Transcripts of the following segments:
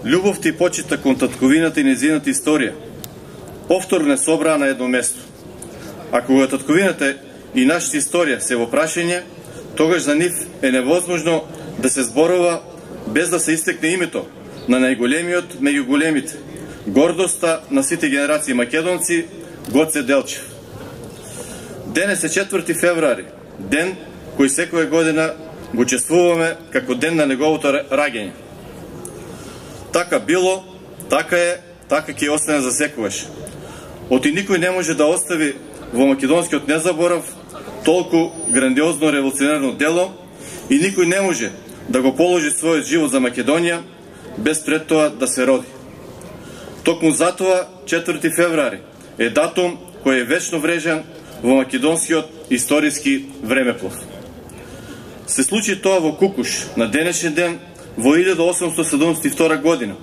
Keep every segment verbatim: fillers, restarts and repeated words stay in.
Љубовта и почита кон татковината и нејзината историја повторно не собраа на едно место. А кога татковината и нашата историја се во прашање, тогаш за нив е невозможно да се зборува без да се истекне името на најголемиот меѓу големите, гордоста на сите генерации македонци, Гоце Делчев. Денес е четврти февруари, ден кој секоја година го чествуваме како ден на неговото раѓање. Така било, така е, така ќе остане за секогаш. Оти никој не може да остави во македонскиот незаборав толку грандиозно револуционерно дело и никој не може да го положи својот живот за Македонија без пред тоа да се роди. Токму затоа четврти февруари е датум кој е вечно врежан во македонскиот историски времеплов. Се случи тоа во Кукуш на денешен ден во илјада осумстотини седумдесет и втора година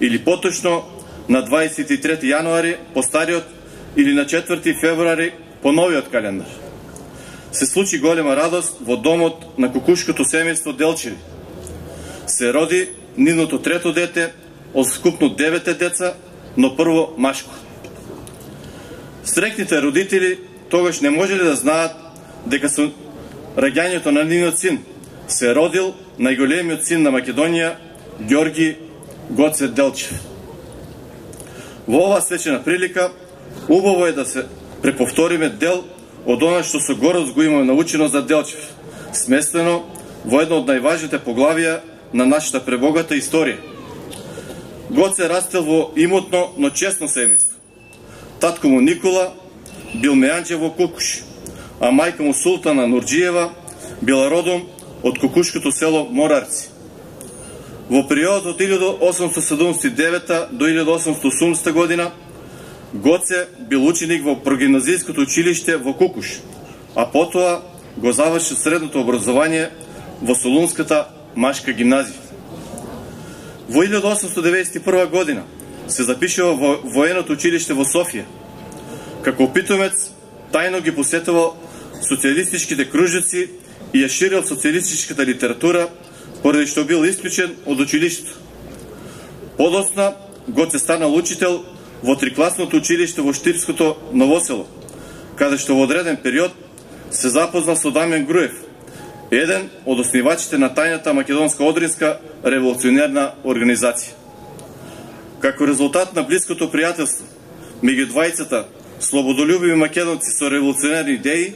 или поточно на дваесет и трети јануари по стариот или на четврти февруари по новиот календар. Се случи голема радост во домот на кукушкото семејство Делчеви. Се роди нивното трето дете од скупно девете деца, но прво машко. Срекните родители тогаш не можеле да знаат дека со раѓањето на нивниот син се родил најголемиот син на Македонија, Ѓорги Гоце Делчев. Во оваа свечена прилика, убаво е да се преповториме дел од она што со гордост го имаме научено за Делчев, сместено во едно од најважните поглавија на нашата пребогата историја. Гоце растел во имотно, но честно семејство. Татко му Никола бил мејанџе во Кукуш, а мајка му Султана Нурџиева била родом од кукушкото село Морарци. Во периодот од илјада осумстотини седумдесет и девета до илјада осумстотини и осумдесета година Гоце бил ученик во прогимназиското училиште во Кукуш, а потоа го завршил средното образование во Солунската машка гимназија. Во илјада осумстотини деветдесет и прва година се запишува во военото училиште во Софија. Како питомец, тајно ги посетувал социјалистичките кружици и ја ширил социјалистичката литература, поради што бил исклучен од училиштето. Подоцна Гоце станал учител во трикласното училиште во Штипското Новосело, каде што во одреден период се запознал со Дамјан Груев, еден од основачите на тајната македонска одринска револуционерна организација. Како резултат на блиското пријателство меѓу двајцата слободолюбиви македонци со револуционерни идеи,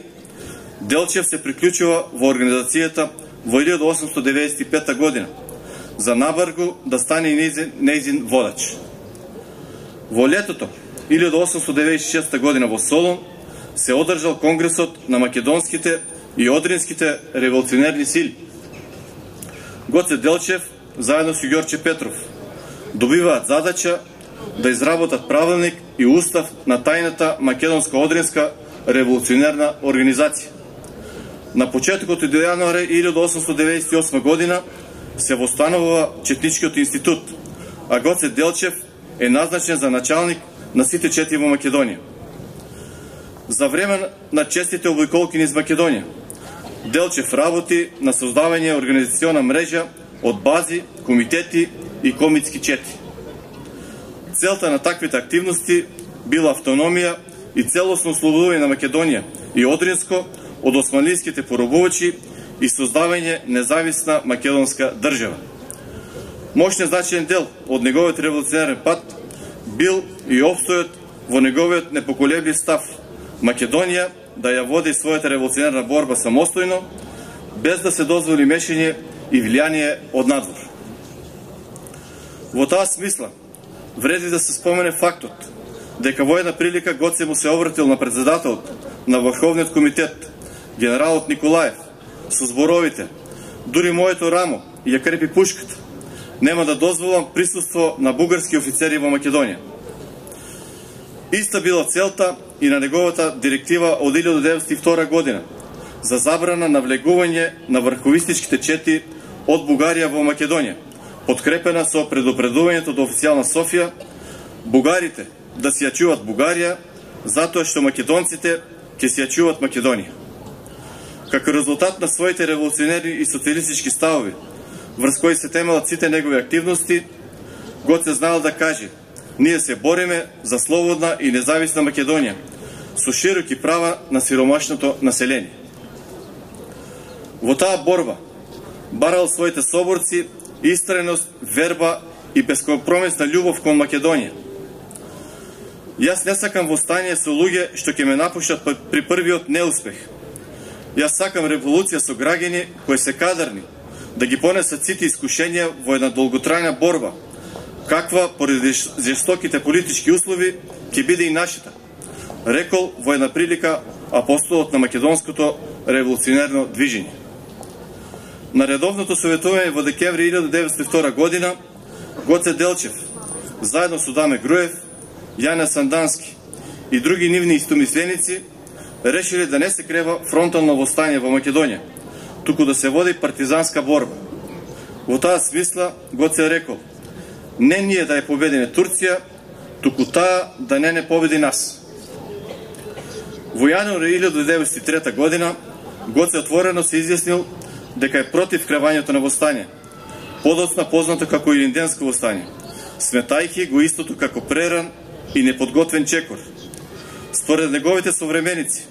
Делчев се приклучува во организацијата во илјада осумстотини деветдесет и пета година за набаргу да стане нејзин, нејзин водач. Во летото илјада осумстотини деветдесет и шеста година во Солун се одржал Конгресот на македонските и одринските револуционерни сили. Гоце Делчев заедно со Ѓорче Петров добиваат задача да изработат правилник и устав на тајната македонска одринска револуционерна организација. На почетокот од јануари илјада осумстотини деветдесет и осма година се востанува Четничкиот институт, а Гоце Делчев е назначен за началник на сите четири во Македонија. За време на честите обиколки низ Македонија, Делчев работи на создавање организациона мрежа од бази, комитети и комитски чети. Целта на таквите активности била автономија и целосно ослободување на Македонија и Одринско од османлиските поробувачи и создавање независна македонска држава. Мощен значаен дел од неговиот револуционерен пат бил и обстојот во неговиот непоколеблив став Македонија да ја води својата револуционерна борба самостојно, без да се дозволи мешање и влијание од надвор. Во таа смисла, вреди да се спомене фактот дека во една прилика Гоце му се обратил на председателот на Врховниот комитет, генералот Николаев, со зборовите: дури моето рамо ја крепи пушката, нема да дозволам присуство на бугарски офицери во Македонија. Иста била целта и на неговата директива од илјада деветстотини и втора година за забрана на влегување на врховистичките чети од Бугарија во Македонија, подкрепена со предупредувањето до официјална Софија бугарите да си ја чуват Бугарија, затоа што македонците ќе си ја чуват Македонија. Како резултат на своите револуционерни и социјалистички ставови, врз кои се темелат сите негови активности, Гоце знаел да каже: ние се бориме за слободна и независна Македонија, со широки права на сиромашното население. Во таа борба барал своите соборци истреност, верба и бескомпромисна љубов кон Македонија. Јас не сакам востание со луѓе што ќе ме напуштат при првиот неуспех. Јас сакам револуција со граѓани кои се кадарни да ги понесат сите искушенија во една долготрајна борба, каква поради жестоките политички услови ќе биде и нашата, рекол во една прилика апостолот на македонското револуционерно движење. На редовното советување во декември илјада деветстотини и втора година, Гоце Делчев, заедно со Даме Груев, Јане Сандански и други нивни истомисленици, решили да не се крева фронтално востание во Македонија, туку да се води партизанска борба. Во таа смисла Гоце рекол: не ние да ја победиме Турција, туку таа да не не победи нас. Во јануари илјада деветстотини и трета година Гоце отворено се изјаснил дека е против кревањето на востание, подоцна познато како Илинденско востание, сметајќи го истото како преран и неподготвен чекор. Според неговите современици,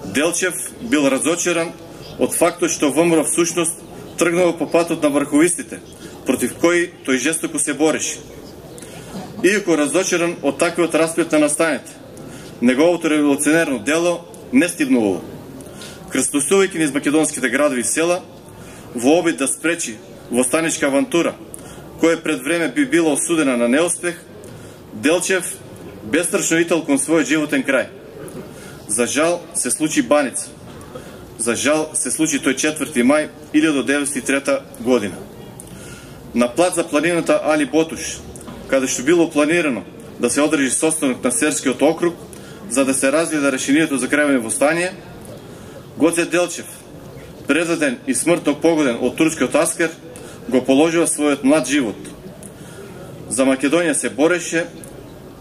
Делчев бил разочаран од фактот што ВМРО всушност тргнало по патот на врховистите, против кои тој жестоко се бореше. Иако разочаран од таквиот расплет на настаните, неговото револуционерно дело не стигнувало. Крстосувајќи низ македонските градови и села, во обид да спречи востаничка авантура, која пред време би била осудена на неуспех, Делчев бестрашно итал кон својот животен крај. За жал се случи Баница. За жал се случи тој четврти мај илјада деветстотини и трета година. На плац за планината Али Ботуш, каде што било планирано да се одржи состанок на Серскиот округ за да се разгледа решението за кревање востание, Гоце Делчев, предаден и смртно погоден од турскиот аскер, го положува својот млад живот. За Македонија се бореше,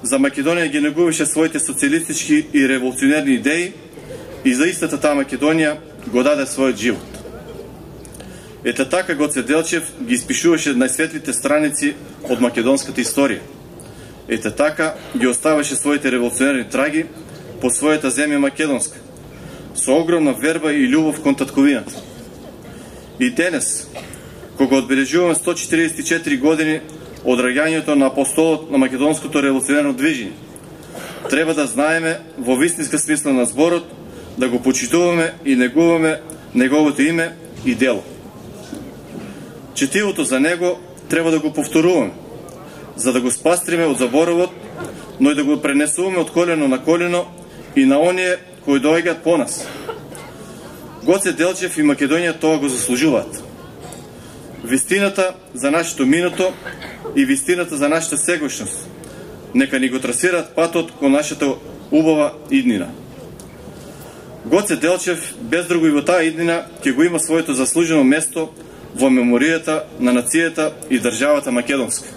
за Македонија ги негуваше своите социјалистички и револуционерни идеи и за истата таа Македонија го даде својот живот. Ете така Гоце Делчев ги испишуваше најсветлите страници од македонската историја. Ете така ги оставаше своите револуционерни траги по својата земја македонска, со огромна верба и љубов кон татковината. И денес, кога одбележуваме сто четиридесет и четири години од раѓањето на апостолот на македонското револуционерно движење, треба да знаеме во вистинска смисла на зборот да го почитуваме и негуваме неговото име и дело. Четивото за него треба да го повторуваме, за да го спастриме од заборовот, но и да го пренесуваме од колено на колено и на оние кои доаѓаат по нас. Гоце Делчев и Македонија тоа го заслужуваат. Вистината за нашето минато и вистината за нашата сегошност нека ни го трасираат патот кон нашата убава иднина. Гоце Делчев без друго и во таа иднина ќе го има своето заслужено место во меморијата на нацијата и државата македонска.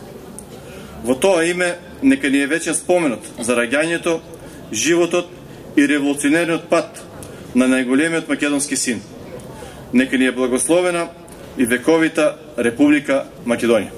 Во тоа име нека ни е вечен споменот за раѓањето, животот и револуционерниот пат на најголемиот македонски син. Нека ни е благословена и вековита Република Македонија.